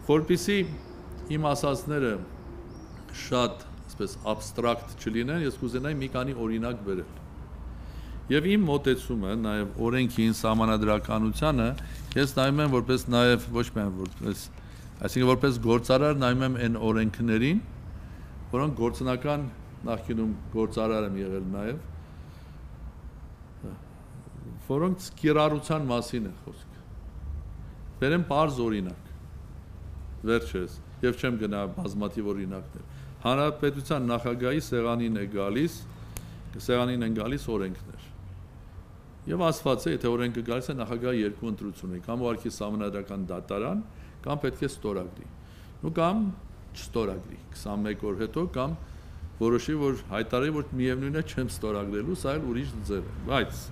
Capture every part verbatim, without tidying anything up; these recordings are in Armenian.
Որպեսզի իմ ասածները շատ այսպես abstract չլինեն, ես կուզենայի մի քանի օրինակ բերել։ Եվ իմ մոտեցումը նաև օրենքին, սահմանադրականությանը, ես նայում եմ որպես նաև ոչ միայն որպես, այսինքն որպես գործարար նայում եմ այն օրենքներին, որոնք գործնական նախկինում գործարար եմ եղել նաև, որոնք կիրառության մասին է խոսքը։ Բերեմ պարզ օրինակ, վերջերս, եւ չեմ գնա բազմաթիվ օրինակներ։ Հանրապետության նախագահի սեղանին է գալիս, սեղանին են գալիս օրենքներ։ Եվ ասված է, եթե օրենքը գալիս է նախագահի երկու ընտրություն է, կամ ուղղակի սահմանադրական դատարան, կամ պետք է ստորագրի։ Ու կամ չստորագրի քսանմեկ օր հետո, կամ որոշի, որ հայտարարի, որ միևնույն է չեմ ստորագրելու, սա էլ ուրիշ ձև է։ Բայց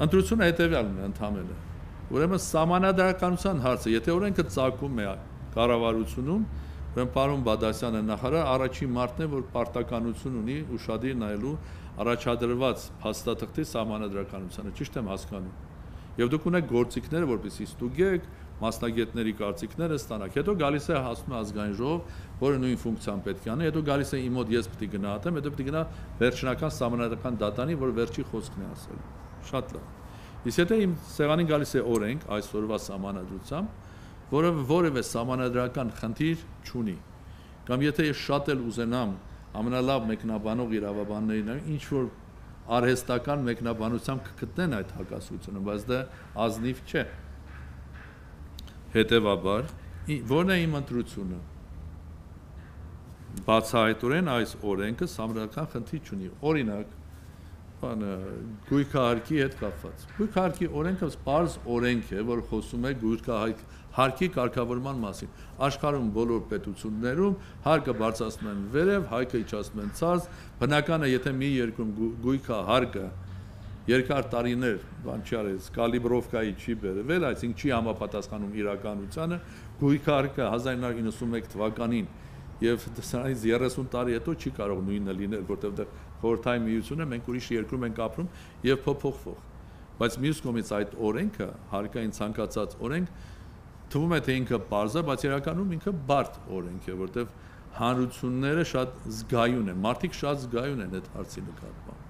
ընտրությունը հետևյալն է ընդհանրապես։ Ուրեմն սահմանադրականության հարցը, եթե օրենքը ծագում է կառավարությունում, ուրեմն պարոն Բադասյանը նախարար առաջին մարտն է, որ պարտականություն ունի ուշադիր նայելու առաջադրված փաստաթղթի սահմանադրականությանը, ճիշտ եմ հասկանում։ Եվ դուք ունեք գործիքները, որպեսզի ստուգեք, մասնագետների կարծիքները ստանաք։ Հետո գալիս է հասնում ազգային ժողով, որը նույն ֆունկցիան պետք է անի, հետո գալիս է իմ մոտ ես պետք է գնահատեմ, հետո պետք է գնա վերջնական սահմանադրական դատանի, որ վերջի խոսքն է ասել։ Շատ լավ։ Իսկ եթե իմ սեղանին գալիս է օրենք այսօրվա սահմանադրությամբ, որը որևէ սահմանադրական խնդիր չունի, կամ եթե ես շատ էլ ուզենամ ամենալավ մեկնաբանող իրավաբաններին, ինչ որ արհեստական մեկնաբանությամբ կգտնեն այդ հակասությունը, բայց դա ազնիվ չէ։ Հետևաբար, որն է իմ ընտրությունը։ Բացահայտորեն այս օրենքը սահմանադրական խնդիր չունի։ Օրինակ, բանը գույքահարկի հետ կապված։ Գույքահարկի օրենքը պարզ օրենք է, որ խոսում է գույքահարկի կարգավորման մասին։ Աշխարհում բոլոր պետություններում հարկը բարձրացնում են վերև, հայկը իջացնում են ցած, բնական է, եթե մի երկրում գույքահարկը երկար տարիներ, բան չի արել, կալիբրովկայի չի բերվել, այսինքն չի համապատասխանում իրականությանը, գույքահարկը հազար իննսուն իննսունմեկ թվականին եւ դրանից երեսուն տարի հետո չի կարող նույնը լինել, որտեղ խորհրդային միությունը մենք ուրիշ երկրում ենք ապրում եւ փոփոխվող։ Բայց մյուս կողմից այդ օրենքը, հարկային ցանկացած օրենք, թվում է թե ինքը բարձր, բայց իրականում ինքը բարդ օրենք է, որտեղ հանրությունները շատ զգայուն են, մարդիկ շատ զգայուն են այդ հարցի նկատմամբ։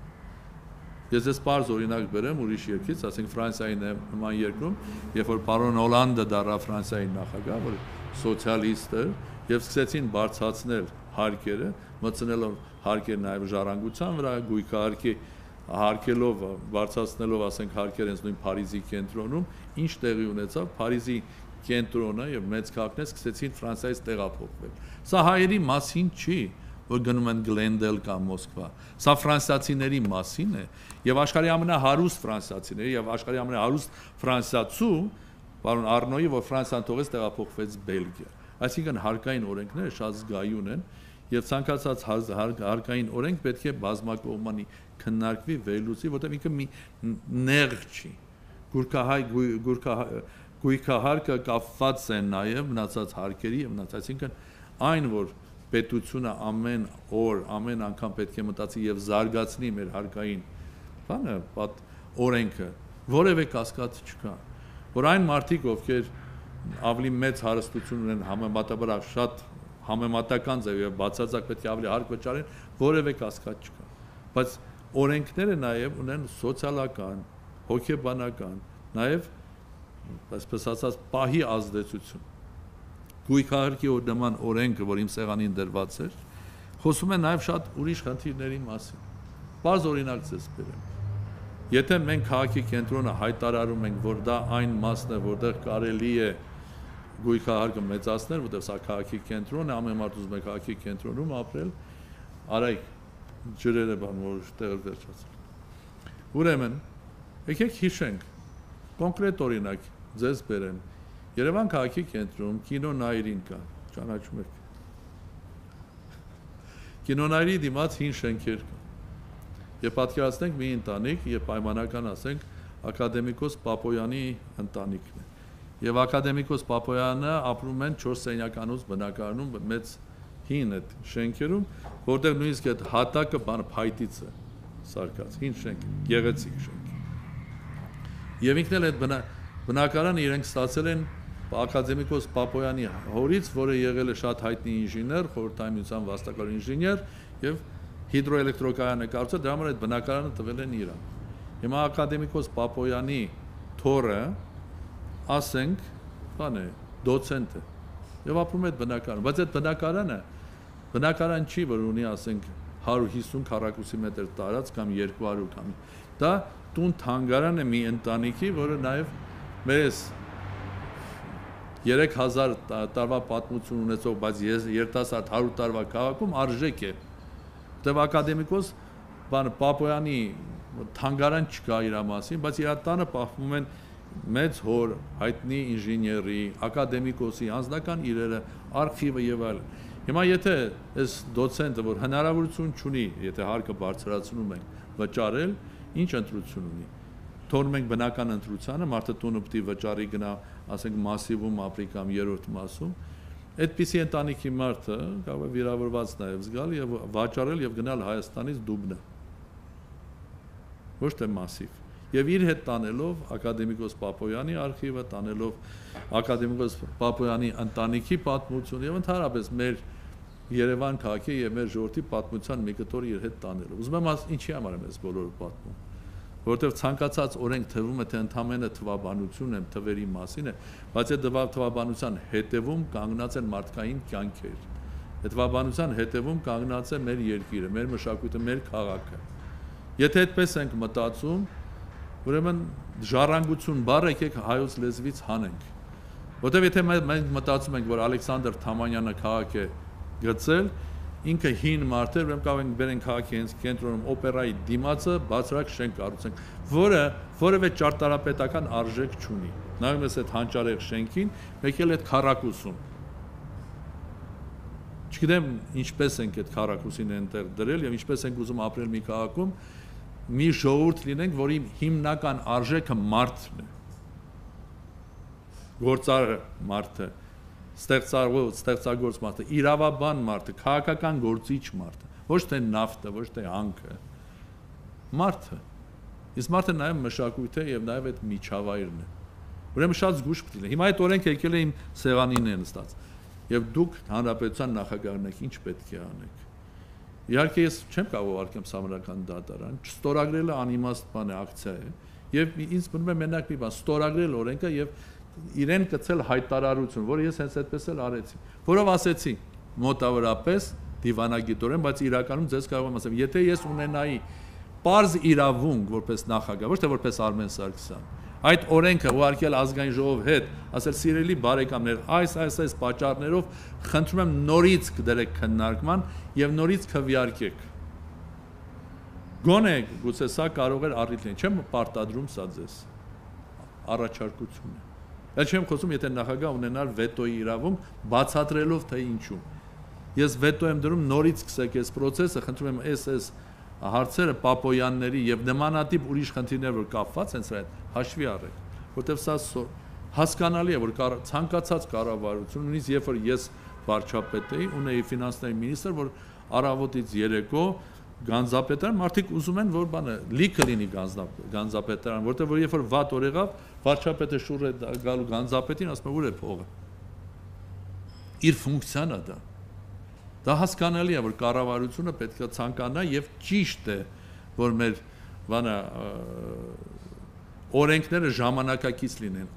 Ես ես բարձ օրինակ բերեմ ուրիշ երկրից, ասենք Ֆրանսիայի նման երկրում, երբ որ պարոն Օլանդը դառավ Ֆրանսիայի նախագահ, որ սոցիալիստ էր, եւ սկսեցին բարձրացնել հարկերը, մտցնելով հարկեր նաեւ ժառանգության վրա, գույքահարկի հարկելով, բարձրացնելով, ասենք հարկեր հենց նույն Փարիզի կենտրոնում, ինչ տեղի ունեցավ, Փարիզի կենտրոնը եւ մեծ քաղաքները սկսեցին Ֆրանսիայից տեղափոխվել։ Սա հայերի մասին չի, որ գնում են Գլենդել կամ Մոսկվա։ Սա ֆրանսիացիների մասին է եւ աշխարհի ամենահարուստ ֆրանսիացիների եւ աշխարհի ամենահարուստ ֆրանսիացու պարոն Արնոյի, որ Ֆրանսիան թողեց տեղափոխվեց Բելգիա։ Այսինքն հարկային օրենքները շատ զգայուն են եւ ցանկացած հարկային օրենք պետք է բազմակողմանի քննարկվի, վերլուծի, որտեղ ինքը մի նեղ չի։ Գուրքահայ գույքահարկը կապված է նաեւ մնացած հարկերի եւ մնացած, այսինքն այն, որ պետությունը ամեն օր, ամեն անգամ պետք է մտածի եւ զարգացնի մեր հարկային բանը, պատ օրենքը, որևէ կասկած չկա, որ այն մարդիկ, ովքեր ավելի մեծ հարստություն ունեն համեմատաբար շատ համեմատական ձև եւ բացարձակ պետք է ավելի հարկ վճարեն, որևէ կասկած չկա, բայց օրենքները նաեւ ունեն սոցիալական, հոգեբանական, նաեւ այսպես ասած պահի ազդեցություն։ Գույքահարկի նման օրենքը, որ իմ սեղանին դրված էր, խոսում է նաեւ շատ ուրիշ խնդիրների մասին։ Բարձ օրինակ ցես բերեմ։ Եթե մենք քաղաքի կենտրոնը հայտարարում ենք, որ դա այն մասն է, որտեղ կարելի է գույքահարկը մեծացնել, որտեղ սա քաղաքի կենտրոնն է, ամեն մարդ ուզում է քաղաքի կենտրոնում ապրել, արայք ջրերը բան որ տեղը վերջացել։ Ուրեմն, եկեք հիշենք, կոնկրետ օրինակ ձեզ բերեմ։ Երևան քաղաքի կենտրոնում կինո Նայիրին կա, ճանաչում եք։ Կինո Նայիրի դիմաց հին շենքեր կա։ Եվ պատկերացնենք մի ընտանիք, եւ պայմանական ասենք ակադեմիկոս Պապոյանի ընտանիքն է։ Եվ ակադեմիկոս Պապոյանը ապրում են չորս սենյականոց բնակարանում մեծ հին այդ շենքերում, որտեղ նույնիսկ այդ հատակը բան փայտից է սարկած, հին շենք, գեղեցիկ շենք։ Եվ ինքն էլ այդ բնակարանը իրենք ստացել են ակադեմիկոս Պապոյանի հորից, որը եղել է շատ հայտնի ինժեներ, խորհրդային միության վաստակավոր ինժեներ եւ հիդրոէլեկտրոկայանը կառուցել, դրա համար այդ բնակարանը տվել են իրան։ Հիմա ակադեմիկոս Պապոյանի թորը, ասենք, բան է, դոցենտ է եւ ապրում է այդ բնակարանը, բայց այդ բնակարանը բնակարան չի, որ ունի, ասենք, հարյուր հիսուն քառակուսի մետր տարած կամ երկու հարյուր կամ դա տուն թանգարան է մի ընտանիքի, որը նաեւ մեզ երեք հազար տարվա պատմություն ունեցող, բայց երիտասարդ հարյուր տարվա քաղաքում արժեք է։ Դեռ ակադեմիկոս բան Պապոյանի թանգարան չկա իր մասին, բայց իր տանը պահվում են մեծ հոր հայտնի ինժեների, ակադեմիկոսի անձնական իրերը, արխիվը եւ այլն։ Հիմա եթե այս դոցենտը, որ հնարավորություն չունի, եթե հարկը բարձրացնում ենք, վճարել, ինչ ընտրություն ունի։ Թողնում ենք բնական ընտրությանը, մարդը տունը պիտի վճարի գնա, ասենք մասիվում ապրի կամ երրորդ մասում, այդպիսի ընտանիքի մարդը կարող է վիրավորված նաև զգալ եւ վաճառել եւ գնալ Հայաստանից Դուբնա։ Ոչ թե մասիվ։ Եվ իր հետ տանելով ակադեմիկոս Պապոյանի արխիվը, տանելով ակադեմիկոս Պապոյանի ընտանիքի պատմություն եւ ընդհանրապես մեր Երևան քաղաքի եւ մեր ժողովրդի պատմության մի կտոր իր հետ տանելով։ Ուզում եմ ասել, ինչի համար եմ ես բոլորը պատմում։ Որտեղ ցանկացած օրենք թվում է թե ընդամենը թվաբանություն եմ թվերի մասին է, բայց այդ թվաբանության հետևում կանգնած են մարդկային կյանքեր։ Այդ թվաբանության հետևում կանգնած է մեր երկիրը, մեր մշակույթը, մեր քաղաքը։ Եթե այդպես ենք մտածում, ուրեմն ժառանգություն բառը եկեք հայոց լեզվից հանենք։ Որտեղ եթե մենք մտածում ենք, որ Ալեքսանդր Թամանյանը քաղաք է գծել, ինքը հին մարդ էր, ուրեմն կարող ենք բերենք քաղաքի հենց կենտրոնում օպերայի դիմացը բացրակ շենք կառուցենք, որը որևէ ճարտարապետական արժեք չունի։ Նայում ես այդ հանճարեղ շենքին, եկել այդ քառակուսում։ Չգիտեմ ինչպես ենք այդ քառակուսին այնտեղ դրել եւ ինչպես ենք ուզում ապրել մի քաղաքում, մի ժողովուրդ լինենք, որի հիմնական արժեքը մարդն է։ Գործարը մարդը ստեղծագործ, ստեղծագործ մարդը, իրավաբան մարդը, քաղաքական գործիչ մարդը, ոչ թե նավթը, ոչ թե հանքը, մարդը։ Իսկ մարդը նաև մշակույթ է եւ նաև այդ միջավայրն է։ Ուրեմն շատ զգուշ պետք է։ Հիմա այդ օրենքը եկել է իմ սեղանին է նստած։ Եվ դուք հանրապետության նախագահն եք, ինչ պետք է անեք։ Իհարկե ես չեմ կարող ուղարկեմ Սամարական դատարան, չստորագրելը անիմաստ բան է, ակցիա է։ Եվ ինձ մնում է մենակ մի բան, ստորագրել օրենքը եւ իրեն կցել հայտարարություն, որը ես հենց այդպես էլ արեցի, որով ասեցի մոտավորապես դիվանագիտորեն, բայց իրականում ձեզ կարող եմ ասեմ, եթե ես ունենայի պարզ իրավունք որպես նախագահ, ոչ թե որպես Արմեն Սարգսյան, այդ օրենքը ուղարկել ազգային ժողով հետ, ասել սիրելի բարեկամներ, այս այս այս պատճառներով խնդրում եմ նորից կդրեք քննարկման եւ նորից քվեարկեք։ Գոնե գուցե սա կարող էր առիթ լինել, չեմ պարտադրում սա ձեզ։ Առաջարկություն է։ Էլ չեմ խոսում, եթե նախագահ ունենար վետոյի իրավունք, բացատրելով թե ինչու։ Ես վետո եմ դրում նորից սկսեք այս process-ը, խնդրում եմ այս այս հարցերը Պապոյանների եւ նմանատիպ ուրիշ խնդիրներ, որ կապված են սրա հետ, հաշվի առեք, որտեղ սա հասկանալի է, որ ցանկացած կառավարություն, նույնիսկ երբ որ ես վարչապետ էի, ունեի ֆինանսների մինիստրը, որ առավոտից երեկո Գանձապետարան մարդիկ ուզում են, որ բանը լիքը լինի Գանձապետարան, որտեղ որ երբ որ վատ օր եղավ, վարչապետը շուռ է գալու Գանձապետին, ասում է ուր է փողը։ Իր ֆունկցիան է դա։ Դա հասկանալի է, որ կառավարությունը պետք է ցանկանա եւ ճիշտ է, որ մեր բանը օրենքները ժամանակակից լինեն,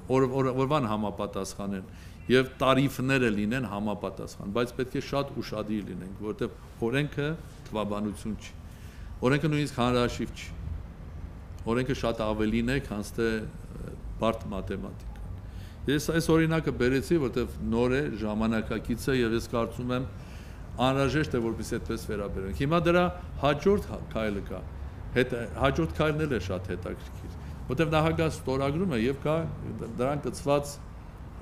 օրվան համապատասխանեն եւ տարիֆները լինեն համապատասխան, բայց պետք է շատ ուշադիր լինենք, որովհետեւ օրենքը թվաբանություն չի։ Օրենքը նույնիսկ հանրաշիվ չի։ Օրենքը շատ ավելին է, քան թե բարդ մաթեմատիկա։ Ես այս օրինակը բերեցի, որովհետեւ նոր է, ժամանակակից է եւ ես կարծում եմ անհրաժեշտ է որպես այդպես վերաբերենք։ Հիմա դրա հաջորդ քայլը կա։ Հետ հաջորդ քայլն էլ է շատ հետաքրքիր, որովհետեւ նախագահ ստորագրում է եւ կա դրան կցված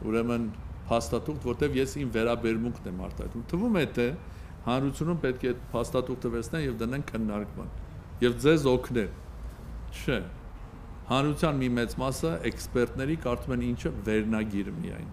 ուրեմն փաստաթուղթ, որտեղ ես իմ վերաբերմունքն եմ արտահայտում։ Թվում է թե հանրությունում պետք է այդ փաստաթուղթը վերցնեն եւ դնեն քննարկման եւ ձեզ օգնեն։ Չէ։ Հանրության մի մեծ մասը էքսպերտների կարծում են ինչը վերնագիր միայն։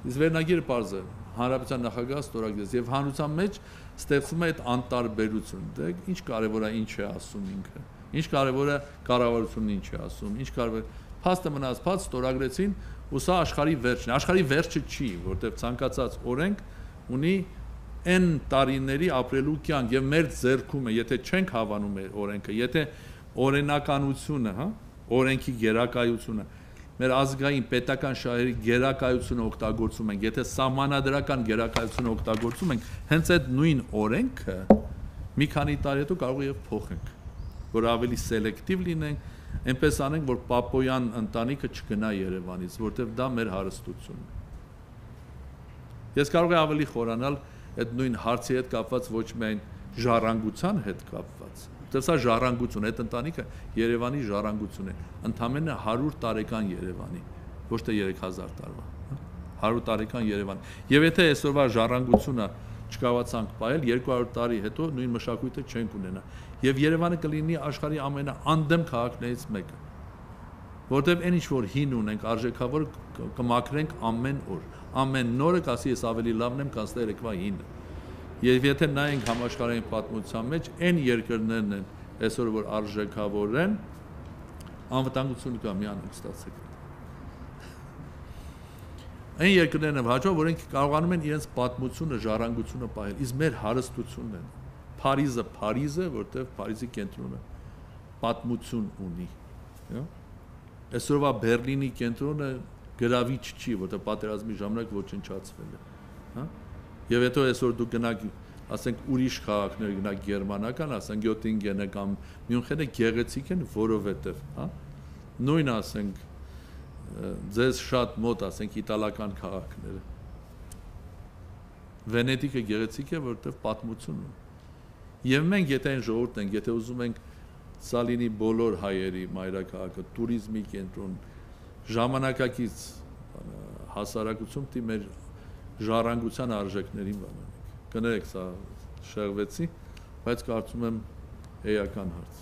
Իսկ վերնագիրը պարզ է, հանրապետության նախագահ ստորագրեց եւ հանրության մեջ ստեղծվում է այդ անտարբերություն։ Դե ինչ կարեւոր է ինչ է ասում ինքը։ Ինչ կարեւոր է կառավարությունն ինչ է ասում, ինչ կարեւոր է փաստը մնաց փաստ ստորագրեցին ու սա աշխարհի վերջն է, աշխարհի վերջը չի, որտեղ ցանկացած օրենք ունի N տարիների ապրելու կյանք եւ մեր ձեռքում է, եթե չենք հավանում մեր օրենքը, եթե օրենականությունը, հա, օրենքի գերակայությունը, մեր ազգային պետական շահերի գերակայությունը օգտագործում ենք, եթե սահմանադրական գերակայությունը օգտագործում ենք, հենց այդ նույն օրենքը մի քանի տարի հետո կարող է եւ փոխենք, որ ավելի սելեկտիվ լինենք, այնպես անենք, որ Պապոյան ընտանիքը չգնա Երևանից, որտեղ դա մեր հարստությունն է։ Ես կարող եմ ավելի խորանալ այդ նույն հարցի հետ կապված ոչ միայն ժառանգության հետ կապված, որտեղ սա ժառանգություն է, այդ ընտանիքը Երևանի ժառանգություն է, ընդամենը հարյուր տարեկան Երևանի, ոչ թե երեք հազար տարվա, հարյուր տարեկան Երևան։ Եվ եթե այսօրվա ժառանգությունը չկարողացանք պահել, երկու հարյուր տարի հետո նույն մշակույթը չենք ունենա։ Եվ Երևանը կլինի աշխարհի ամենաանդեմ քաղաքներից մեկը, որտեղ այն ինչ որ հին ունենք, արժեքավոր կմաքրենք ամեն օր, ամեն նորը կասի ես ավելի լավն եմ, քան երեկվա հինը։ Եվ եթե նայենք համաշխարհային պատմության մեջ, այն երկրներն են այսօր որ արժեքավոր են, անվտանգություն կա մի անենք ստացեք։ Այն երկրներն են հաջող, որոնք կարողանում են իրենց պատմությունը, ժառանգությունը պահել, իսկ մեր հարստությունն են։ Փարիզը, Փարիզը, որտեղ Փարիզի կենտրոնը պատմություն ունի։ Այսօրվա Բերլինի կենտրոնը գրավիչ չի, որտեղ պատերազմի ժամանակ ոչնչացվել է, հա։ Եվ հետո այսօր դուք գնաք, ասենք ուրիշ քաղաքներ գնաք գերմանական, ասենք Գյոտինգենը կամ Մյունխենը գեղեցիկ են, որովհետև, հա։ Նույն ասենք ձեզ շատ մոտ, ասենք իտալական քաղաքները։ Վենետիկը գեղեցիկ է, որովհետև պատմություն ունի։ Եվ մենք եթե այն ժողովուրդն ենք, եթե ուզում ենք սա լինի բոլոր հայերի մայրաքաղաքը, տուրիզմի կենտրոն, ժամանակակից հասարակություն դի մեր ժառանգության արժեքներին բանանենք։ Կներեք, սա շեղվեցի, բայց կարծում եմ էական հարց։